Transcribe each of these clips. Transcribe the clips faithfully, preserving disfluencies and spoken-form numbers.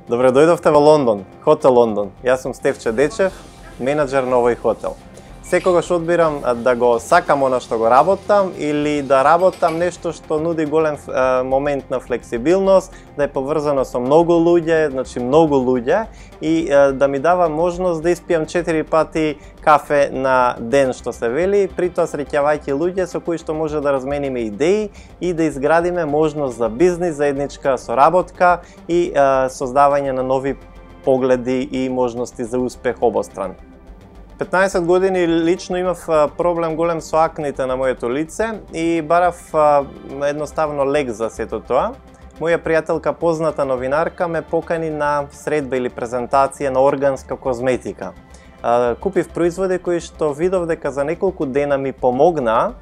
Добре дојдовте во Лондон, Хотел Лондон. Јас сум Стефче Дечев, менаџер на овој хотел. Секогаш одбирам да го сакам она што го работам или да работам нешто што нуди голем е, момент на флексибилност, да е поврзано со многу луѓе, значи многу луѓе и е, да ми дава можност да испијам четири пати кафе на ден, што се вели, при тоа среќавајќи луѓе со кои што може да размениме идеи и да изградиме можност за бизнис, заедничка соработка и е, создавање на нови погледи и можности за успех обостран. петнаесет години лично имав проблем голем со акните на моето лице и барав едноставно лек за сето тоа. Моја пријателка, позната новинарка, ме покани на средба или презентација на органска козметика. Купив производи кои што видов дека за неколку дена ми помогнаа.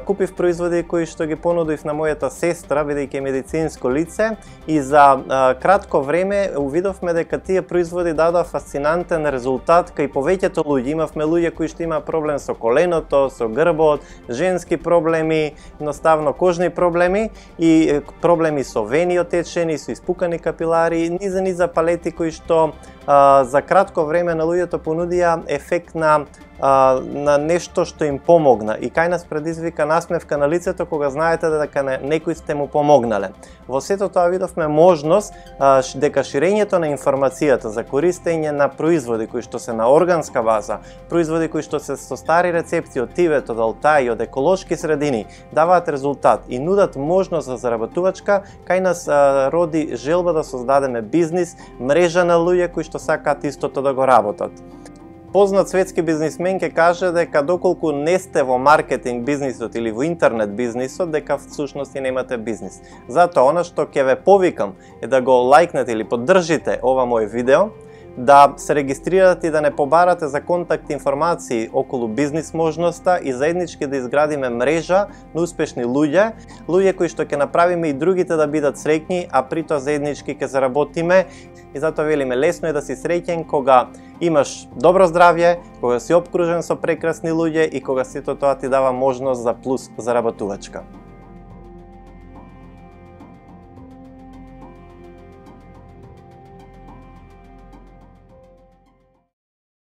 Купив производи кои што ги понудив на мојата сестра, бидејќи е медицинско лице, и за а, кратко време увидовме дека тие производи дадоа фасцинантен резултат кај повеќето луѓе. Имавме луѓе кои што имаа проблем со коленото, со грбот, женски проблеми, едноставно кожни проблеми и проблеми со вени отечени, со испукани капилари, низа низа палети кои што а, за кратко време на луѓето понудија ефект на Uh, на нешто што им помогна и кај нас предизвика насмевка на лицето кога знаете дека некој сте му помогнале. Во сето тоа видовме можност uh, дека ширењето на информацијата за користење на производи кои што се на органска база, производи кои што се со стари рецепти од Тибет, од Алтай, од еколошки средини, даваат резултат и нудат можност за заработувачка. Кај нас uh, роди желба да создадеме бизнис, мрежа на луѓе кои што сакаат истото да го работат. Познат светски бизнисмен ќе каже дека доколку не сте во маркетинг бизнисот или во интернет бизнисот, дека всушност и немате бизнис. Затоа, она што ќе ве повикам е да го лајкнете или поддржите ова мој видео, да се регистрирате и да не побарате за контакт информации околу бизнис можноста и заеднички да изградиме мрежа на успешни луѓе, луѓе кои што ќе направиме и другите да бидат среќни, а при тоа заеднички ќе заработиме. И затоа велиме, лесно е да си среќен кога имаш добро здравје, кога си обкружен со прекрасни луѓе и кога сето тоа ти дава можност за плюс заработувачка.